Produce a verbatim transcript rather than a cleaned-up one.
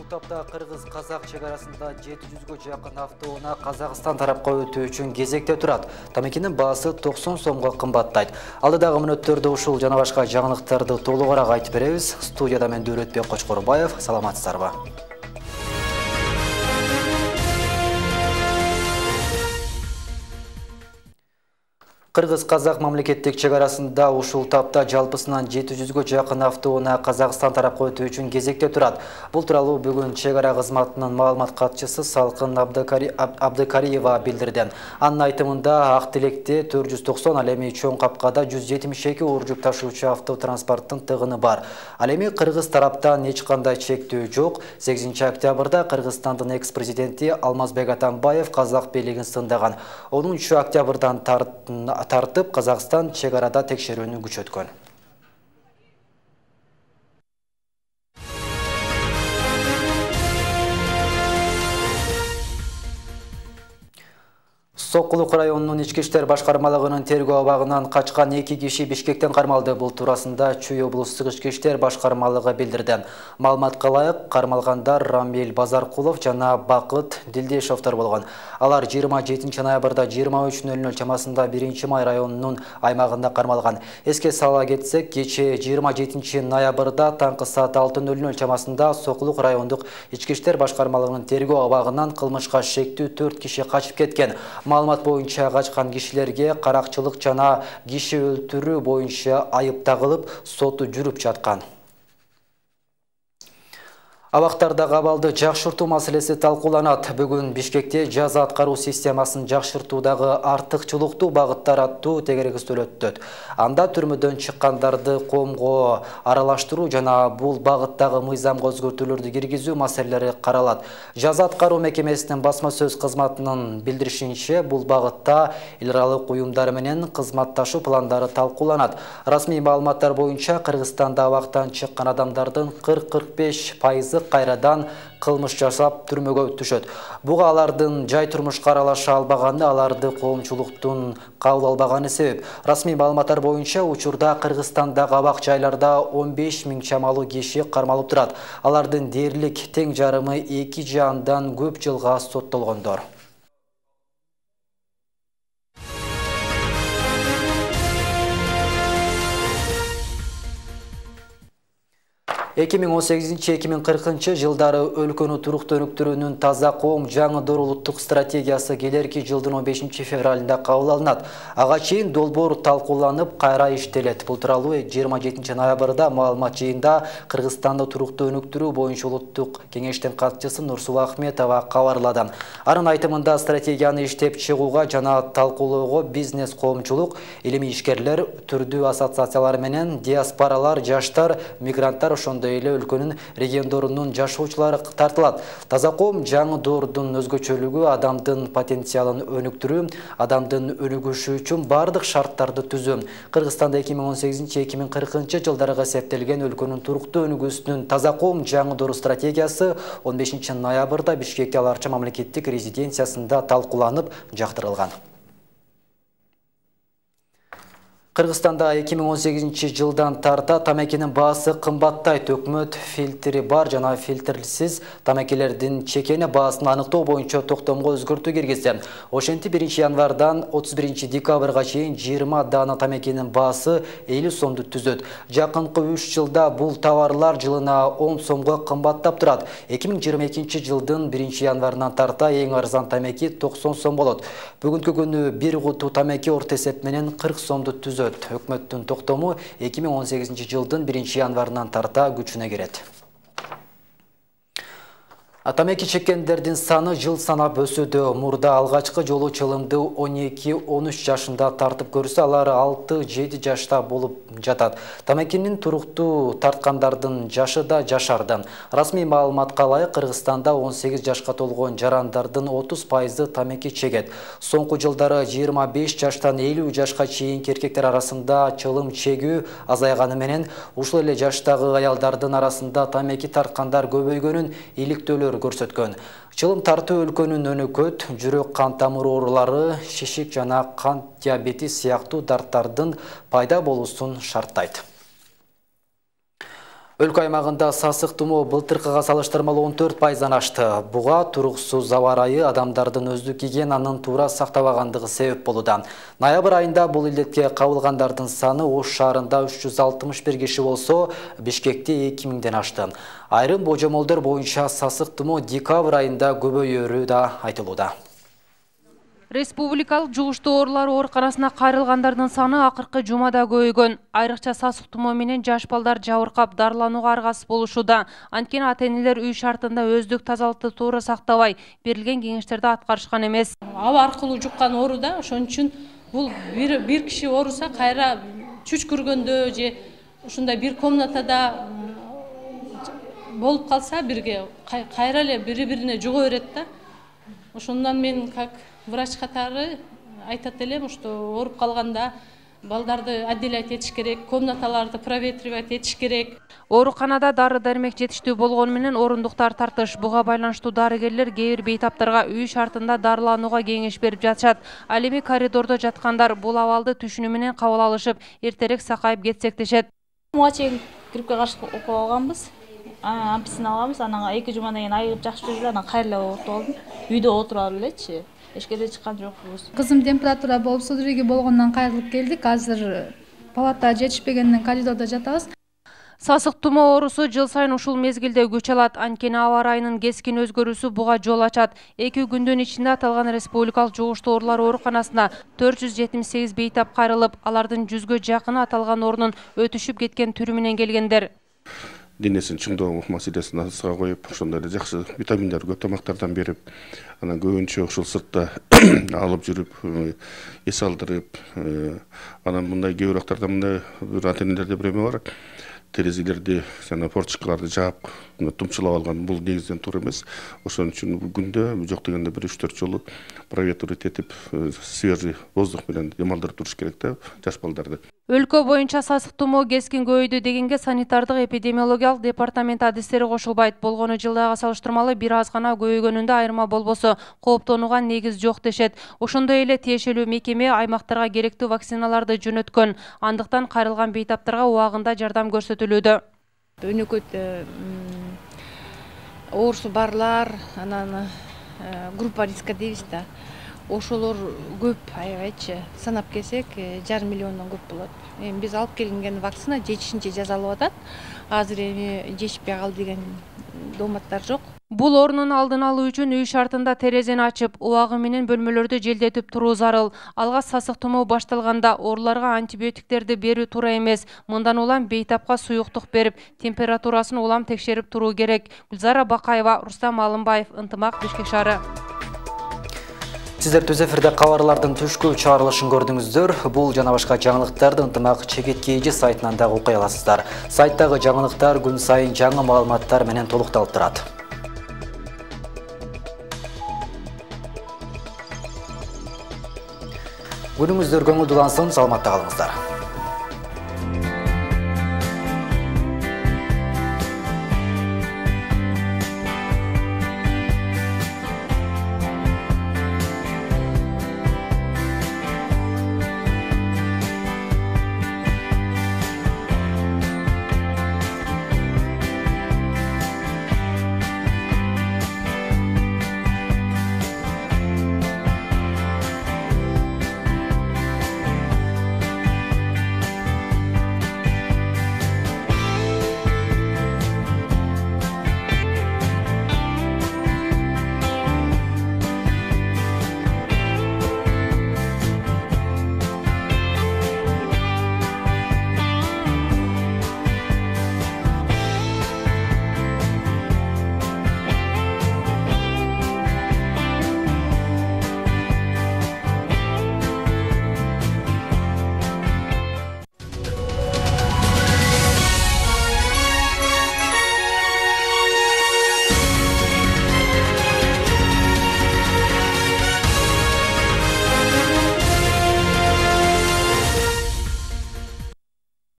Ушул тапта кыргыз-казак чек арасында жети жүзгө жакын автоунаа Казакстан тарапка өтүү үчүн кезекте турат. Тамекинин баасы токсон сомго кымбаттайт. Алдыдагы мүнөттөрдө ушул жана башка жаңылыктарды толугураак айтып беребиз. Студияда мен Дөөретбек Кочкорбаев. Саламатсыздарбы? Кыргыз-казак мамлекеттик чек арасында ушул тапта жалпысынан жети жүзгө жакын автоунаа Казакстан тарапка өтүү үчүн кезекте турат. Бул тууралуу бүгүн чек ара кызматынын маалымат катчысы Салкын Абдыкариева билдирди. Анын айтымында ак тилекте төрт жүз токсон, ал эми чоң капкада жүз жетимиш эки ууржук ташуучу автотранспорттун тыгыны бар. Ал эми кыргыз тараптан эч кандай чектөө жок. сегизинчи октябрда Кыргызстандын экс-президенти Алмазбек Атамбаев казак бийлигин сындаган. онунчу октябрдан тартып тартып Казакстан чек арада текшерүүнү күчөткөн. Сокулук районунун ички иштер башкармалыгынын тергөө абагынан качкан эки киши Бишкектен кармалды. Бул туурасында Чүй облустук ички иштер башкармалыгы билдирди. Маалыматка ылайык, кармалгандар Рамил Базаркулов жана Бакыт Дилдешовдор болгон. Алар жыйырма жетинчи ноябрда жыйырма үч нөл нөл чамасында биринчи май районунун аймагында кармалган. Эске сала кетсек, кечээ жыйырма жетинчи ноябрда таңкы саат алты нөл нөл чамасында Сокулук райондук ички иштер башкармалыгынын тергөө абагынан кылмышка шектүү төрт киши качып кеткен. Маалымат боюнча качкан кишилерге каракчылык жана киши өлтүрүү боюнча айып тагылып, соту жүрүп жаткан. Абактардагы абалды жакшыртуу маселеси талкууланат. Бүгүн Бишкекте жаза аткаруу системасын жакшыртуудагы артыкчылыктуу багыттар аттуу тегерегиздөө өтөт. Анда түрмөдөн чыккандарды коомго аралаштыруу жана бул багыттагы мыйзамга өзгөртүүлөрдү киргизүү маселелери каралат. Жаза аткаруу мекемесинин басма сөз кызматынын билдиришинче, бул багытта эл аралык уюмдар менен кызматташуу пландары талкууланат. Расмий маалыматтар боюнча Кыргызстанда абактан чыккан адамдардын кырк кырк беш пайызы кайрадан кылмыш жасап түрмөгө түшөт. Буга алардын жай турмушка аралаша албаганы, аларды коомчулуктун кабыл албаганы себеп. Расмий маалыматтар боюнча учурда Кыргызстандагы абак жайларда он беш миң чамалуу киши кармалып турат. Алардын дээрлик тең жарымы эки же андан көп жылга соттолгондор. эки миң он сегизинчи — эки миң кыркынчы жылдары өлкөнү туруктуу өнүктүрүүнүн таза коом жаңы улуттук стратегиясы келерки жылдын он бешинчи февралында кабыл алынат. Ага чейин долбоор талкууланып, кайра иштелет. Бул тууралуу жыйырма жетинчи ноябрда маалымат жыйында Кыргызстанды туруктуу өнүктүрүү боюнча улуттук кеңештин катчысы Нурсулуу Ахметова кабарлады. Анын айтымында стратегияны иштеп чыгууга жана талкуулоого бизнес, коомчулук, илимий ишкерлер, түрдүү ассоциациялар менен диаспоралар, жаштар, мигранттар, ошондой эле өлкөнүн региондорунун жашоочулары тартылат. Таза коом жаңы доордун өзгөчөлүгү адамдын потенциалын өнүктүрүү, адамдын өнүгүшү үчүн бардык шарттарды түзүү. Кыргызстанда эки миң он сегизинчи — эки миң кыркынчы жылдарга эсептелген өлкөнүн туруктуу өнүгүүсүнүн таза коом жаңы доор стратегиясы он бешинчи ноябрда Бишкекте Аларча мамлекеттик резиденциясында талкууланып, жактырылган. Кыргызстанда эки миң он сегизинчи жылдан тарта тамекинин баасы кымбаттайт. Өкмөт фильтри бар жана фильтрсиз тамекилердин чекени баасын аныктоо боюнча токтомго өзгөртүү киргизди. Ошентип биринчи январдан отуз биринчи декабрга чейин жыйырма дана тамекинин баасы элүү сомду түзөт. Жакынкы үч жылда бул товарлар жылына он сомго кымбаттап турат. эки миң жыйырма экинчи жылдын биринчи январынан тарта эң арзан тамеки токсон сом болот. Бүгүнкү күнү бир куту тамеки орто эсеп менен кырк сомду түзөт. Өкмөттүн токтому эки миң он сегизинчи жылдын биринчи январынан тарта күчүнө кирет. Тамеки чеккендердин саны жыл санап өсүүдө. Мурда алгачкы жолу чылымды он эки — он үч жашында тартып көрсө, алар алты — жети жашта болуп жатат. Тамекинин туруктуу тарткандардын жашы да жашарды. Расмий маалыматка ылайык, Кыргызстанда он сегиз жашка толгон жарандардын отуз пайызы тамеки чегет. Соңку жылдары жыйырма беш жаштан элүү жашка чейинки эркектер арасында чылым чегүү азайганы менен, ушул эле жаштагы аялдардын арасында тамеки тарткандар көбөйгөнүн иликтөөлөр көрсөткөн. Чылым тартуу өлкөнүн өнөкөт, жүрөк кан тамыр оорулары, шишик жана кант диабети сыяктуу дарттардын пайда болуусун шарттайт. Өлкө аймагында сасык тумоо былтыркыга салыштырмалуу он төрт пайыздан ашты. Буга туруксуз аба ырайы, адамдардын өздүк гигиенанын туура сактабагандыгы себеп болууда. Ноябрь айында бул илдетке кабылгандардын саны Ош шаарында үч жүз алтымыш бир киши болсо, Бишкекте эки миңден ашты. Айрым божомолдор боюнча сасык тумоо декабрь айында көбөйөрү да айтылууда. Республикалык жугуштуу оорулар ооруканасына кайрылгандардын саны акыркы жумада көбөйгөн. Айрыкча сасык тумоо менен жаш балдар жабыркап дарыланууга аргасыз болушууда. Анткени ата-энелер үй шартында өздүк тазалыкты туура сактабай, берилген кеңештерди аткарышкан эмес. Аба аркылуу жуккан оору да, ошон үчүн бул бир бир киши ооруса, кайра чүчкүргөндө же ушундай бир комнатада болуп калса, бирге кайра эле бири-бирине жуга берет да. Ошондон мен как врач катары айтат элем, что ооруп калганда балдарды отделять этиш керек, комнаталарды проветривать этиш керек. Ооруканада дары-дармек жетиштүү болгону менен орундуктар тартыш. Буга байланыштуу дарыгерлер кээ бир бейтаптарга үй шартында дарыланууга кеңеш берип жатышат. Ал эми коридордо жаткандар бул абалды түшүнүү менен кабыл алышып, эртерээк сакайып кетсек дешет. Буга чейин гриппке каршы окуп алганбыз. Амписин алганбыз, анан эки жумадан кийин айыгып жакшы жүрдү, анан кайра эле оорутуп алдым. Үйдө отура элечи. Эшкеде чыккан жокпуз. Кызым температура болуп судороги болгондон кайрылып келдик. Азыр палата жетишпегенден коридордо жатабыз. Сасык тумоо оорусу жыл сайын ушул мезгилде күч алат. Анткени аба ырайынын кескин өзгөрүүсү буга жол ачат. эки күндүн ичинде аталган республикалык жугуштуу оорулар ооруканасына төрт жүз жетимиш сегиз бейтап кайрылып, алардын жүзгө жакыны аталган оорунун өтүшүп кеткен түрү менен келгендер. Денесин чыңдоо маселесин асыга коюп, ошондой эле жакшы витаминдер, көп тамактардан берип, анан көбүнчө ушул сыртта алып жүрүп, эс алдырып, анан мындай кээ бир актарда мындай ата-энелерде бир эме бар. Терезелерди, жана форточкаларды жаап, тумчулап алган. Бул негизден туура эмес. Ошон үчүн күндө жок дегенде бир үч төрт жолу проветривать этип, свежий воздух менен демалдырып туруш керек да жаш балдарды. Өлкө боюнча сасык тумоо кескин көбөйдү дегенге санитардык эпидемиологиялык департамент адистери кошулбайт. Болгону жылдайга салыштырмалуу бир аз гана көбөйгөнүндө айырма болбосо, кооптонууга негиз жок дешет. Ошондой эле тиешелүү мекеме аймактарга керектүү вакциналарды жөнөткөн. Андыктан кайрылган бейтаптарга убагында жардам көрсөтүлүүдө. Өнөкөт оорусу барлар, анан группа риска дейбиз да. Ошолор көп, аябайчы. Санап келсек, жарым миллиондон көп болот. Эми биз алып келинген вакцина жетишинче жасалып атат. Азыр эми жетишпей калды деген дооматтар жок. Бул оорунун алдын алуу үчүн үй шартында терезени ачып, убагы менен бөлмөлөрдү желдетип туруу зарыл. Алга сасык тумоо башталганда ооруларга антибиотиктерди берүү туура эмес. Мындан улам бейтапка суюктук берип, температурасын улам текшерип туруу керек. Гүлзара Бакаева, Рустам Алымбаев, Ынтымак, Бишкек шаары. Сиздер түз эфирде кабарлардын түшкү чыгарылышын көрдүңүздөр. Бул жана башка жаңылыктарды Ынтымак чекиткейжи сайтынан да окуй аласыздар. Сайттагы жаңылыктар күн сайын жаңы маалыматтар менен толукталып турат. Күнүңүздөр көңүлдүү улансын, саламатта калыңыздар.